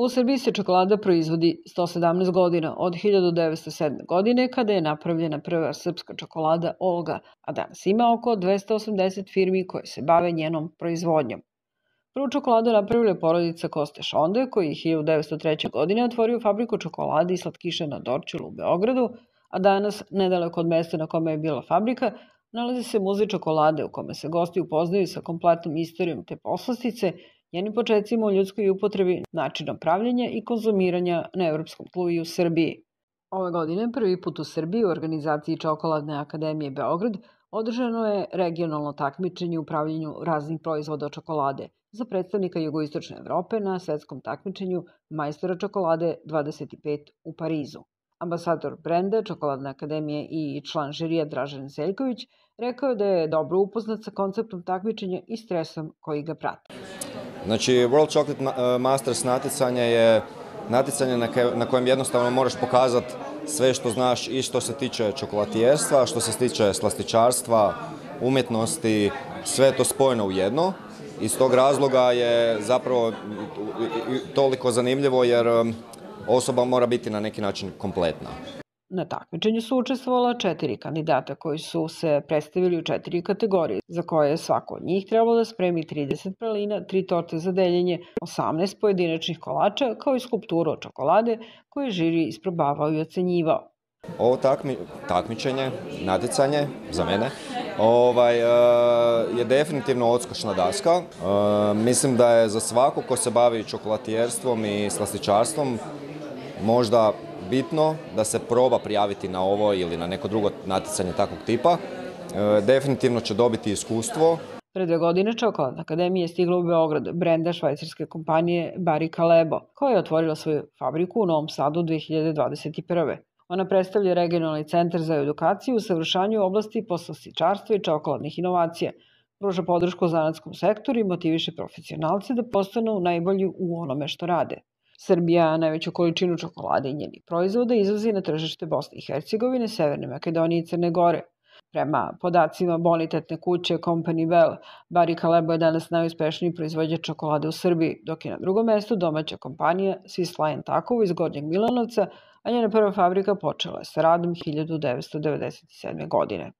U Srbiji se čokolada proizvodi 117 godina, od 1907. godine, kada je napravljena prva srpska čokolada Olga, a danas ima oko 280 firmi koje se bave njenom proizvodnjom. Prvu čokoladu napravila je porodica Koste Šonde, koji je 1903. godine otvorio fabriku čokolade i slatkiša na Dorćolu u Beogradu, a danas, nedaleko od mesta na kome je bila fabrika, nalazi se muzej čokolade u kome se gosti upoznaju sa kompletnom istorijom te poslastice, njenim počecima u ljudskoj upotrebi, načinom pravljenja i konzumiranja na evropskom tlu i u Srbiji. Ove godine, prvi put u Srbiji u organizaciji Čokoladne akademije Beograd održano je regionalno takmičenje u pravljenju raznih proizvoda od čokolade za predstavnika jugoistočne Evrope na svetskom takmičenju majstora čokolade 25 u Parizu. Ambasador brenda Čokoladne akademije i član žirija Dražen Zeljković rekao je da je dobro upoznat sa konceptom takmičenja i stresom koji ga prati. Znači, World Chocolate Masters natjecanje je natjecanje na kojem jednostavno moraš pokazati sve što znaš i što se tiče čokolatijerstva, što se tiče slastičarstva, umjetnosti, sve je to spojeno u jedno. Iz tog razloga je zapravo toliko zanimljivo jer osoba mora biti na neki način kompletna. Na takmičenju su učestvovala 4 kandidata koji su se predstavili u 4 kategorije, za koje je svako od njih trebalo da spremi 30 pralina, 3 torte za deljenje, 18 pojedinačnih kolača, kao i skulpturu od čokolade koju je žiri isprobavao i ocenjivao. Ovo takmičenje, natjecanje, za mene, je definitivno odskočna daska. Mislim da je za svako ko se bavi čokolatijerstvom i slastičarstvom možda bitno da se proba prijaviti na ovo ili na neko drugo natjecanje takvog tipa. Definitivno će dobiti iskustvo. Pre 2 godine Čokoladna akademija je stigla u Beograd brenda švajcarske kompanije Barry Callebaut, koja je otvorila svoju fabriku u Novom Sadu 2021. Ona predstavlja regionalni centar za edukaciju u savršanju oblasti poslastičarstva i čokoladnih inovacija, pruža podršku zanatskom sektoru i motiviše profesionalce da postanu najbolji u onome što rade. Srbija najveću količinu čokolade i njenih proizvoda izvozi na tržište Bosne i Hercegovine, Severne Makedonije i Crne Gore. Prema podacima bonitetne kuće Company Bell, Barry Callebaut je danas najuspešniji proizvođač čokolade u Srbiji, dok je na drugom mestu domaća kompanija Swiss Lion Takovo iz Gornjeg Milanovca, a njena prva fabrika počela je sa radom 1997. godine.